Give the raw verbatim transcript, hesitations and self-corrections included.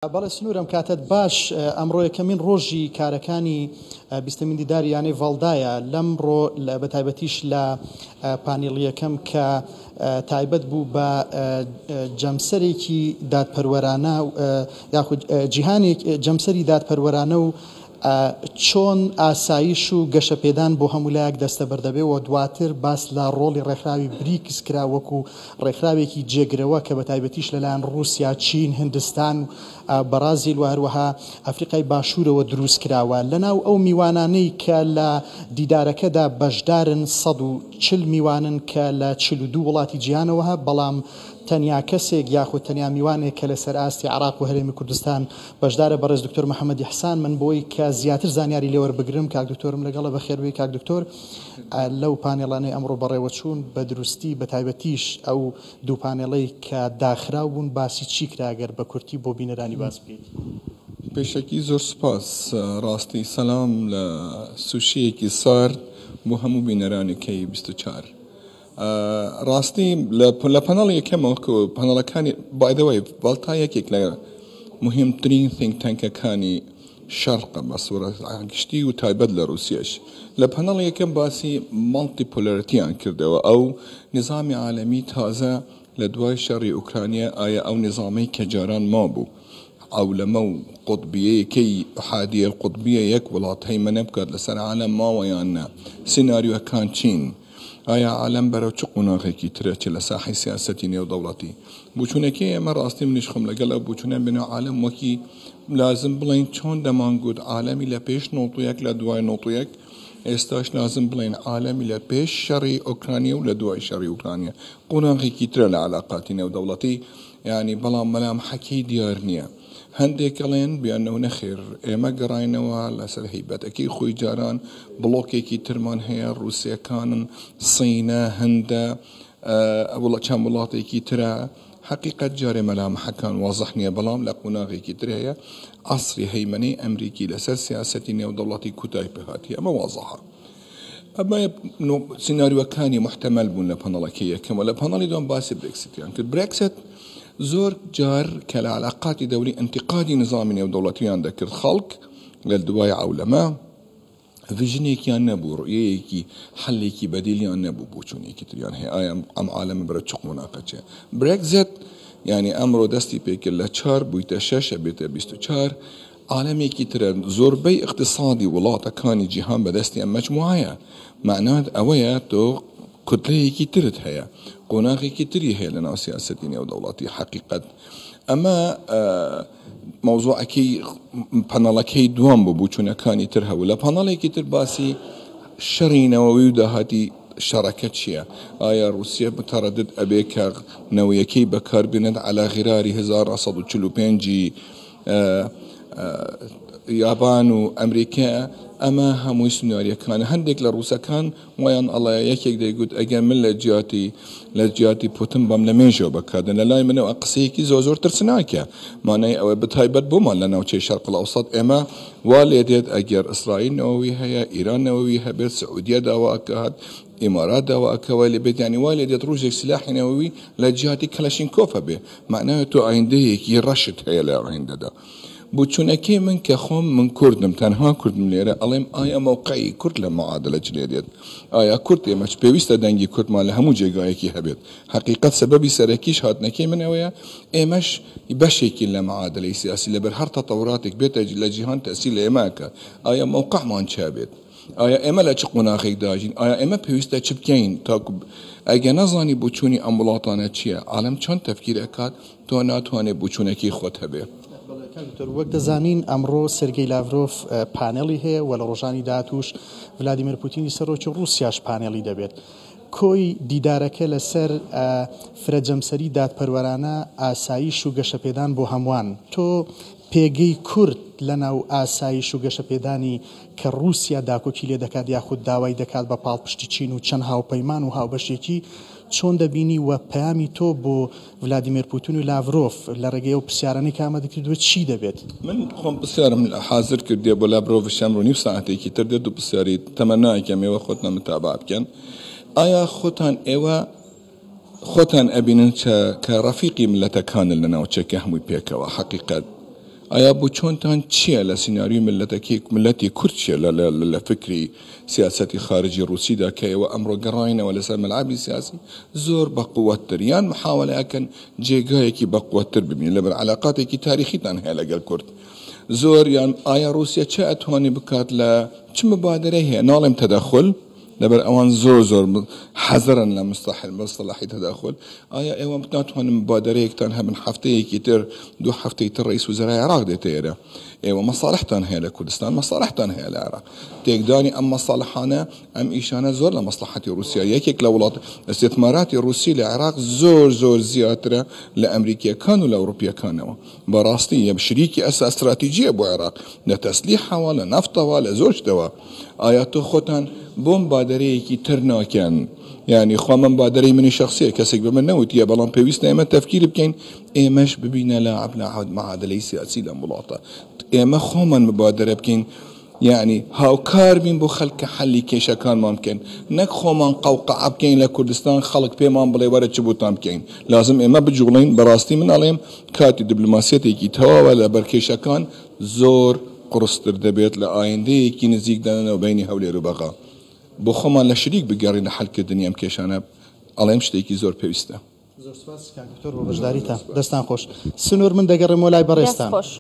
بەڵێ سنوورم کاتت باش. ئەمڕۆ یەکەمین ڕۆژی کارەکانی بیستەمین دیداری یانەی ڤاڵدایە. لەمڕۆ بە تایبەتیش لە پانێڵیەکەم کە تایبەت بوو بە جەمسەرێکی دادپەروەرانە یاخود جیهانێک جەمسەری دادپەروەرانە و چۆن ئاسایش و گەشەپێدان بۆ هەموو لایەک دەستەبەر دەبێ و دواتر باس لە ڕۆڵی ڕێکخراوی بریکس کرا وەکو ڕێکخراوێکی جێگرەوە کە بە تایبەتیش لەلایەن ڕووسیا، چین، هندستان، بەرازیل و هەروەها ئەفریقای باشوورەوە دروست کراوە. لەناو ئەو میوانانەی کە لە دیدارەکەدا بەشدارن سەد و چل میوانن کە لە چل و دوو وڵاتی جیهانەوە، بەڵام تەنیا کەسێک یاخود تەنیا میوانێک کە لەسەر ئاستی عراق و هەرێمی کوردستان بەشدارە بەڕێز دکتۆر محەممەد ئیحسان. من بۆی کە زیاتر زانیاری لێوەربگرم کاک دکتۆرم لەگەڵە. بەخێربێی کاک دکتۆر. لەو پانێڵانەی ئەمڕۆ بەڕێوەچوون بە دروستی بە تایبەتیش ئەو دوو پانێڵەی کە داخراو بوون باسی چی کرا گەر بە کورتی بۆ بینەرانی باس بکەیت؟ پێشەکی زۆر سپاس. ڕاستی سەلام لە سوشیەکی سارد بۆ هەموو بینەرانی کەی بیست و چوار. ڕاستی لە پەنەڵی یەکەمەوە پەنەڵەکانی by the way ڤاڵتا یەکێک لە مهمترین think tank ەکانی شەرقە بە سوورەت گشتی و تایبەت لە رووسیەش. لە پەنەڵی یەکەم باسی multipolarity یان کردەوە، ئەو نظامی عالەمی تازە لە دوای شەڕی ئۆکرانیا، ئایا ئەو نظامەی کە جاران مابوو عەولەمە و قوتبیەکەی ئەحادیە القوتبیە یەک وڵات هەیمەنە بکات لەسەر عالەم ماوە یان نا، سیناریۆکان چین، ئایا عالەم بەرەو چ قۆناغێکی ترە چ لە ساحەی سیاسەتی نێودەوڵەتی. بچوونەکەی ئێمە ڕاستی منیش خۆم لەگەڵ ئەو بچوونە بنەوە عالەم وەکی لازم بڵێن چۆن دەمانگوت عالەمی لە پێش نۆت و یەک لە دوای نۆت و یەک، ئێستاش لازم بڵێن عالەمی لە پێش شەڕی ئۆکرانیا و لە دوای شەڕی ئۆکرانیا قۆناغێکی ترە لە علاقاتی نێودەوڵەتی. یعنی بەڵام مەلامحەکەی دیار نییە. هەندێک ئەڵێن بیانەوە نەخێر ئێمە گەڕاینەوە لەسەر هەیبەتەکەی خۆی جاران، بڵۆکێکی ترمان هەیە، ڕووسیەکانن، سینە، هەندە، چەند وڵاتێکی ترە. حقیقت جارێ مەلامحەکان وازح نییە، بەڵام لە قۆناغێکی تر هەیە عەسری هەیمەنەی ئەمریکی لەسەر سیاسەتی نێودەوڵەتی کوتای پێهاتی، ئەمە وازحە. ئەمە سیناریۆکانی محتەمەل بوون لە پەنەڵەکەی یەکەم. و لە پەنەڵی دووەم باسی برێکسیتیان کرد. برێکسیت زۆر جار کە لە علاقاتی دەولی انتقادی نظامی نێودەوڵەتیان دەکرد، خەڵک لە دوای عەولەمە vision ێکیان نەبوو، ڕوئیەیەکی حەلێکی بەدیلیان نەبوو، بۆچوونێکی تریان هەیە ئایا ئەم عالەمە بەرەو چ قۆناغە چێ. برێکزیت یعنی ئەمڕۆ دەستی پێکرد لە چوار بوویتە شەش بێتە بیست و چوار، عالەمێکی ترە. زۆربەی اقتصادی وڵاتەکانی جیهان بەدەستی ئەم مەجموعەیە، معنات ئەوەیە تۆ کوتلەیەکی ترت هەیە، قۆناغێکی تری هەیە لەناو سیاسەتی نێودەوڵەتی. حەقیقەت ئەمە مەوزوعەکەی پەنەڵەکەی دووەم بوو، بچوونەکانی تر هەبوو. لە پەنەڵێکی تر باسی شەڕی نەوەوی و داهاتی شەڕەکە چییە، ئایا رووسیا متەڕەدد ئەبێ کە نەوەیەکەی بەکاربێنێت عەلا غیراری هەزار و سەد و چل و پێنجی یابان و ئەمریکا. ئەمە هەمووی سناریەکانە. هەندێک لە ڕووسەکان وایان ئەڵێ یەکێک دەیگوت ئەگەر من لە جیاتی لە جیاتی پوتن بەم لە مێژەوە بەکاردن، لە لای منەوە قسەیەکی زۆر زۆر ترسناکە. مانای ئەوە بەتایبەت بۆمان لە ناوچەی شەرق الئەوسەط ئێمە وا لێ دێت ئەگەر ئیسرائیل نەوەوی هەیە، ئیران نەوەوی هەبێت، سعودیە داواکات، ئیمارات داواکە وای لێ بێت، یعنی وای لێ دێت ڕۆژێک سلاحی نەوەوی لە جیاتی کەلەشینکۆف هەبێ. معناوە تۆ ئایندەیەکی ڕەشت هەیە لە ئایندەدا. بچوونەکەی من کە خۆم من کوردم، تەنها کوردم لێرە، ئەڵێم ئایا مەوقعی کورد لە معادلە چ لێ دێت؟ ئایا کورد ئێمە پێویستە دەنگی کوردمان لە هەموو جێگایەکی هەبێت؟ حەقیقەت سەبەبی سەرەکیش هاتنەکەی من ئەوەیە ئێمەش بەشێکی لە معادلەی سیاسی لەبەر هەر تەتەوراتێک بێتە لە جیهان تەسیر لە ئێمە کە ئایا مەوقعمان چ بێت؟ ئایا ئێمە لە چ قۆناغێک داژین؟ ئایا ئێمە پێویستە چ بکەین تاکو ئەگەر نەزانی بۆچوونی ئەم وڵاتانە چییە، عالەم چۆن تەفکیر ئەکات، تۆ ناتوانێت بۆچوونەکەی خۆت هەبێ. دکتۆر وەک دەزانین ئەمڕۆ سێرگەی لاڤرۆف پانێڵی هەیە و لە ڕۆژانی داهاتووش ڤلادیمیر پوتینی سەرۆکی ڕووسیاش پانێڵی دەبێت. کۆی دیدارەکە لەسەر فرەجەمسەری دادپەروەرانە، ئاسایش و گەشەپێدان بۆ هەمووان. تۆ پێگەی کورد لەناو ئاسایش و گەشەپێدانی کە ڕووسیا داکۆکی لێ دەکات یاخود داوای دەکات بە پاڵپشتی چین و چەند هاوپەیمان و هاوبەشێکی چۆن دەبینی و پەیامی تۆ بۆ ڤلادیمیر پوتین و لاڤرۆف لە ڕێگەی ئەو پرسیارانەی کە ئامادە کردووە چی دەبێت؟ من خۆم پرسیارم حاضر کردیە بۆ لاڤرۆفیش ئەمڕۆ نیو ساعتێکی تر دێت و پرسیاری تەمەنایەکەم ئێوە خۆتان متابعە بکەن. ئایا خۆتان ئێوە خۆتان ئەبینن کە ڕەفیقی ملەتەکانن لە ناوچەکە هەمووی پێکەوە؟ حەقیقەت ئایا بۆ چۆنتان چییە لە سیناریۆی ملەتەکەی ملەتی کورد چییە لە فکری سیاسەتی خارجی ڕووسیدا کە ئێوە ئەمڕۆ گەڕاینەوە لەسەر مەلعەبی سیاسی زۆر بەقوەتتر یان محاوەلە ئەکەن جێگایەکی بەقوەتتر ببینن لەبەر عەلاقاتێکی تاریخیتان هەیە لەگەڵ کورد زۆر یان ئایا ڕووسیا چه ئەتوانێ بکات لە چ مبادرەی هەیە ناڵێم تەدەخل لەبەر ئەوان زۆر زۆر حەزرن لە مستحل مستەلاحی تەداخل ئایا ئێوە ناتوانن مبادرەیەکتان هەبن هەفتەیەکی تر دوو هەفتەی تر ڕئیس وزەرای عێراق دێتە ئێرە ئێوە مەساڵحتان هەیە لە کوردستان مەساڵحتان هەیە لە عێراق تێکدانی ئەم مەساڵحانە ئەم ئیشانە زۆر لە مەسڵەحەتی ڕووسیا یەکێک لە وڵات ئیستیثماراتی ڕووسی لە عێراق زۆر زۆر زیاترە لە ئەمریکیەکان و لە ئەوروپیەکانەوە بەڕاستی یە شریکی ئەسا ئەستراتیجیە بۆ عێراق لە تەسلیحەوە لە نەفتەوە لە زۆر شتەوە ئایا تۆ خۆتان بۆ مبادرەیەکی تر ناکەن یعنی خوا من مبادرەی منی شخصیە کەسێک بە من نەوتیە بەڵام پێویستە ئێمە تەفکیر بکەین ئێمەش ببینە لاعب لە معادلەی سیاسی لەم وڵاتە ئێمە خۆمان مبادرە بکەین یعنی هاوکار بین بۆ خەڵکە حەلی کێشەکانمان بکەین نەک خۆمان قەوقعە بکەین لە کوردستان خەڵک پێمان بڵێ وەرە چ بۆتان بکەین لازم ئێمە بجوڵین بەڕاستی من ئەڵێم کاتی دیبلۆماسیەتێکی تەواوە لەبەر کێشەکان زۆر قورستر دەبێت لە ئایندەیەکی نزیکدا بینی هەولێر و بەغا بۆ خۆمان لە شریک بگەڕین لە حەلکردنی ئەم کێشانە ئەڵێم شتێکی زۆر پێویستە. زۆر سپاس کاک دکتۆر بۆ بەشداریتان دەستان خۆش. سنوور من دەگەڕێمەوە لای بەڕێزتان.